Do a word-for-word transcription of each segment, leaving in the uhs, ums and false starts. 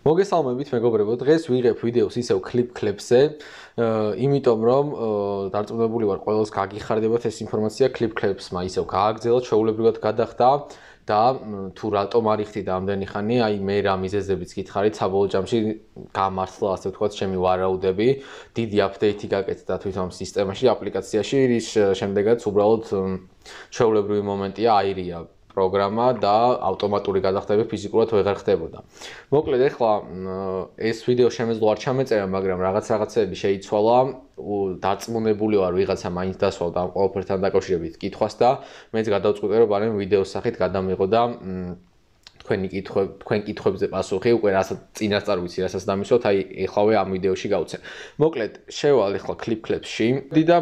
მოგესალმებით მეგობრებო, დღეს ვიღებ ვიდეოს ისევ კლიპ-კლებზე, იმიტომ რომ დარწმუნებული ვარ ყველას გაგიხარდებათ ეს ინფორმაცია კლიპ-კლებსმა ისევ გააგრძელა, ჩვეულებრივად გადახდა და თუ რატომ არ იხდით ამდენი ხანი, აი მე რა მიზეზებიც გითხარით, საბოლოო ჯამში გამართლა, ასე ვთქვათ, ჩემი ვარაუდები, დიდი აპდეითი გაკეთდა თვითონ სისტემაში, აპლიკაციაში, რის შემდეგაც უბრალოდ ჩვეულებრივი მომენტია აირია პროგრამა და ავტომატური გადახდები ფიზიკურად ვეღარ ხდებოდა. მოკლედ ეხლა ეს ვიდეო შემეძლო არ ჩამეწერა, მაგრამ რაღაც რაღაცები შეიცვალა, დარწმუნებული ვარ ვიღაცა მაინც დასვავდა ამ ყველაფერთან დაკავშირებით კითხვას და მეც გადავწყვიტე რომ ბარემ ვიდეოს სახით გადამიღო და თქვენი კითხვები, თქვენ კითხვებზე პასუხი უკვე რასაც წინასწარ ვიცი, რასაც დამისვათ, აი ეხლავე ამ ვიდეოში გავცე. მოკლედ შევალ ეხლა კლიპ-კლებში და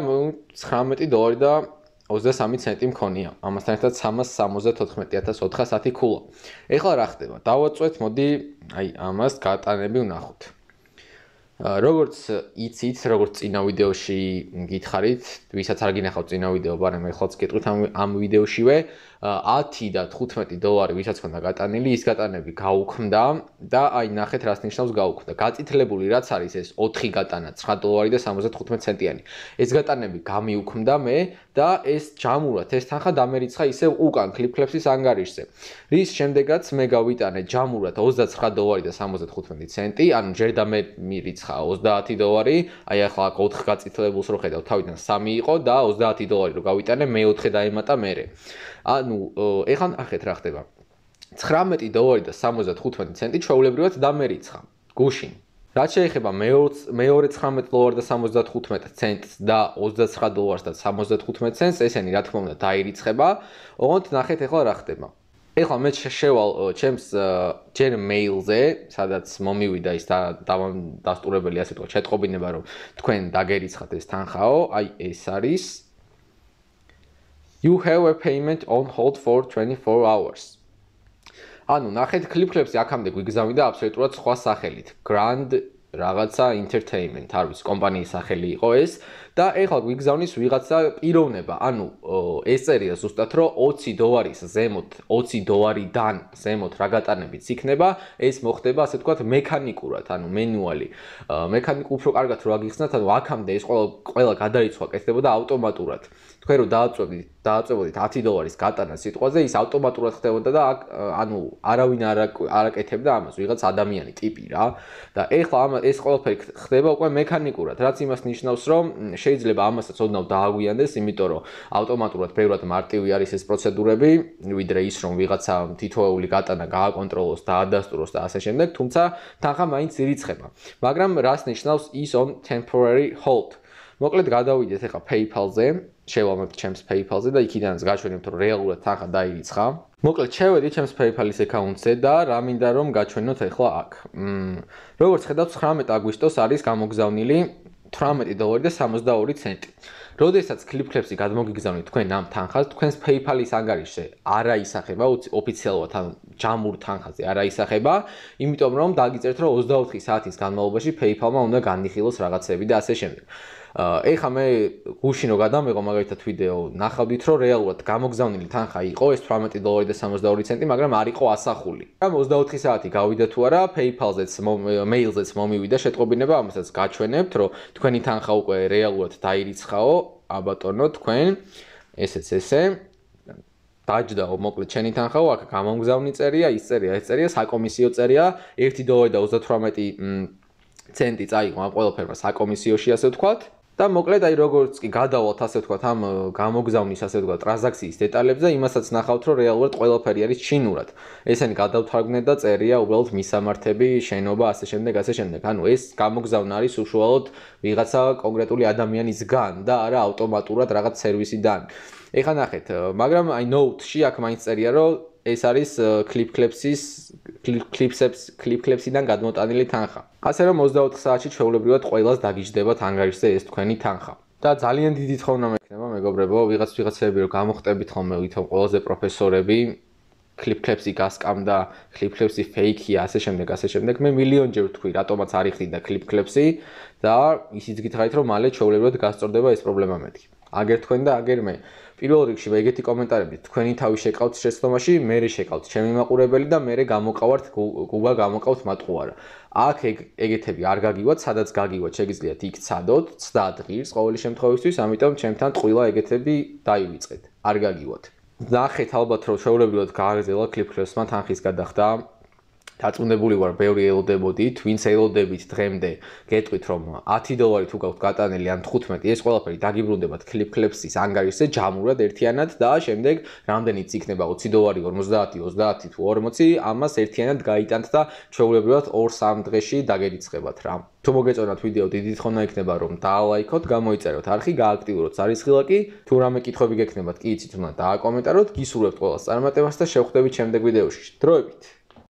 ცხრამეტი დოლარი და ოცდასამი ცენტი მქონია. ამასთან ერთად სამას სამოცდათოთხმეტი ათას ოთხასათი ქულა. ეხლა რა ხდება? დავაწვეთ, მოდი აი ამას გატანები ვნახოთ. როგორც იცით, როგორც წინა ვიდეოში გითხარით, ვისაც არ გინახავთ წინა ვიდეო, მაგრამ ეხლაც გეტყვით ამ ამ ვიდეოშივე ათი და თხუთმეტი დოლარი ვისაც ხონდა გატანილი, ის გატანები გაუქმდა და აი ნახეთ რას ნიშნავს გაუქმდა. გაწითლებული რაც არის ეს ოთხი გატანა, ცხრა დოლარი და სამოცდათხუთმეტი ცენტიანი. ეს გატანები გამიუქმდა მე და ეს ჯამურად ეს თანხა დამერიცხა ისევ უკან კლიპ-კლეფსის ანგარიშზე. რის შემდეგაც მე გავიტანე ჯამურად ოცდაცხრა დოლარი და სამოცდათხუთმეტი ცენტი, ანუ ჯერ და მე მირიცხა ოცდაათი დოლარი, აი ახლა აქ ოთხ გაწითლებულს რო ხედავ, თავიდან სამი იყო და ოცდაათი დოლარი რო გავიტანე, მეოთხე დაემატა მერე. ანუ ეხლა ნახეთ რა ხდება. ცხრამეტი დოლარი და სამოცდათხუთმეტი ცენტი ჩვეულებრივად დამერიცხა გუშინ. რაც შეეხება მეორე ცხრამეტი დოლარი და სამოცდათხუთმეტი ცენტს და ოცდაცხრა დოლარს და სამოცდათხუთმეტი ცენტს, ესენი რა თქმა უნდა დაირიცხება. ოღონდ ნახეთ ეხლა რა ხდება. ეხლა მე შევალ ჩემს ჯერ მეილზე, სადაც მომივიდა ის დასტურებელი, ასე ვთქვათ, შეტყობინება, რომ თქვენ დაგერიცხათ ეს თანხაო, აი ეს არის You have a payment on hold for twenty-four hours. ანუ ნახეთ კლიპ-კლებში აქამდე გვიგზავნიდა აბსოლუტურად სხვა სახელით. Grand რაღაცა entertainment, არ ვიცი, კომპანიის სახელი იყო ეს და ეხლა გვიგზავნის ვიღაცა პიროვნება. ანუ ეს წერია ზუსტად რომ ოცი დოლარის ზემოთ, ოცი დოლარიდან ზემოთ რა გატანებიც იქნება, ეს მოხდება, ასე ვთქვათ, მექანიკურად, ანუ მენუალი. მექანიკ უფრო კარგად რო აგიხსნათ, ანუ აქამდე ეს ყველა ყველა გადარიცხვა კეთდებოდა ავტომატურად. თქვენ რო დააწვევდით, დააწვევოდით ათი დოლარის გატანა სიტყვაზე, ის ავტომატურად ხდებოდა და ანუ არავინ არ აკეთებდა ამას, ვიღაც ადამიანი ტიპი რა. და ეხლა ამ ეს ყველაფერი ხდება უკვე მექანიკურად, რაც იმას ნიშნავს, რომ შეიძლება ამასაც ოდნავ დააგვიანდეს, იმიტომ რომ ავტომატურად ბევრად მარტივი არის ეს პროცედურები, ვიდრე ის რომ ვიღაცა თითოეული გატანა გააკონტროლოს, დაადასტუროს და ასე შემდეგ, თუმცა თანხა მაინც ირიცხება. მაგრამ რას ნიშნავს is on temporary hold? მოკლედ გადავიდეთ ახლა PayPal-ზე, შევალმებთ ჩემს PayPal-ზე და იქიდანაც გაჩვენებთ რომ რეალურად თანხა დაირიცხა. მოკლედ შევედი ჩემს PayPal-ის აკაუნტზე და რა მინდა რომ გაჩვენოთ ახლა აქ. როგორც ხედავთ, ცხრამეტი აგვისტოს არის გამოგზავნილი თვრამეტი დოლარი და სამოცდაორი ცენტი. როდესაც კლიპ-კლებში გადმოგიგზავნით თქვენ ამ თანხას, თქვენს PayPal-ის ანგარიშზე არ აისახება ოფიციალურად, ანუ ჯამურ თანხაზე არ აისახება, იმიტომ რომ დაგიწერთ რომ ოცდაოთხი საათის განმავლობაში PayPal-მა უნდა განიხილოს რაღაცები და ასე შემდეგ. ეხლა მე გუშინ რო გადამეღო მაგალითად ვიდეო, ნახავდით რომ რეალურად გამოგზავნილი თანხა იყო ეს თვრამეტი დოლარი და სამოცდაორი ცენტი, მაგრამ არ იყო ასახული. ამ ოცდაოთხი საათი გავიდა თუ არა, PayPal-ზეც, მეილზეც მომივიდა შეტყობინება, ამასაც გაჩვენებთ, რომ თქვენი თანხა უკვე რეალურად დაირიცხაო, აბატონო, თქვენ ესეც ესე დაჯდაო, მოკლედ შენი თანხაო, აქ გამომგზავნი წერია, ის წერია, ეს წერია, საკომისიო წერია, ერთი დოლარი და ოცდათვრამეტი ცენტი წაიღო ამ ყველაფერმა საკომისიოში, ასე ვთქვათ. და მოკლედ აი როგორც კი გადავალთ ასე ვთქვათ ამ გამოგზავნის ასე ვთქვათ ტრანზაქციის დეტალებზე, იმასაც ნახავთ რომ რეალურად ყველაფერი არის ჩინურად. ესენი გადავთარგმნეთ და წერია უბრალოდ მისამართები, შენობა, ასე შემდეგ, ასე შემდეგ. ანუ ეს გამოგზავნა არის უშუალოდ ვიღაცა კონკრეტული ადამიანისგან და არა ავტომატურად რაღაც სერვისიდან. ეხლა ნახეთ, მაგრამ აი note-ში აქ მაინც წერია რომ ეს არის კლიპ-კლეფსის კლიპ-კლეფსიდან გადმოტანილი თანხა. ასე რომ ოცდაოთხ საათში ჩვეულებრივად ყველას დაგიჯდებათ ანგარიშზე ეს თქვენი თანხა. და ძალიან დიდი თხოვნა მექნება, მეგობრებო, ვიღაც ვიღაცები რომ გამოხტებით ხოლმე ვითომ ყველაზე პროფესორები, კლიპ-კლეფსი გასკამდა, კლიპ-კლეფსი ფეიქია, ასე შემდეგ, ასე შემდეგ. მე მილიონჯერ ვთქვი, რატომაც არ იხდიდა კლიპ-კლეფსი და ისიც გითხარით რომ მალე ჩვეულებრივად გასწორდება ეს პრობლემა მეთქი. აგერ თქვენ და აგერ მე. პირველ რიგში ეგეთი კომენტარები თქვენი თავი შეკავთ შეცდომაში, მე შეკავთ ჩემი მაყურებელი და მე გამოყავართ გუგა გამოყავთ მატყუარა. აქ ეგეთები არ გაგივათ, სადაც გაგივათ, შეგიძლიათ იქ ცადოთ, ცდად ღირს ყოველი შემთხვევისთვის, ამიტომ ჩემთან ტყუილა ეგეთები დაივიწყეთ. არ გაგივათ. ნახეთ ალბათ რომ ჩვეულებრივად გააგრძელა კლიპ-კლეპსმა თანხის გადახდა. დაწუნებული ვარ, ბევრი ელოდებოდით, ვინც ელოდებით დღემდე, გეტყვით რომ ათი დოლარი თუ გაქვთ გატანილი ან თხუთმეტი, ეს ყველაფერი დაგიბრუნდებათ კლიპ-კლეპსის ანგარიშზე ჯამურად ერთიანად და შემდეგ რამდენიც იქნება ოცი დოლარი, ორმოცდაათი, ოცდაათი თუ ორმოცი, ამას ერთიანად გაიტანთ და ჩვეულებრივად ორ სამ დღეში დაგერიცხებათ რა. თუ მოგეწონათ ვიდეო, დიდი თხოვნა იქნება რომ დაალაიქოთ, გამოიწეროთ არხი, გააქტიუროთ ზარისხილაკი, თუ რამე კითხვები გექნებათ, კი იცით უნდა დააკომენტაროთ, გისურვებთ ყველას წარმატებას და შევხვდებით შემდეგ ვიდეოში. დროებით.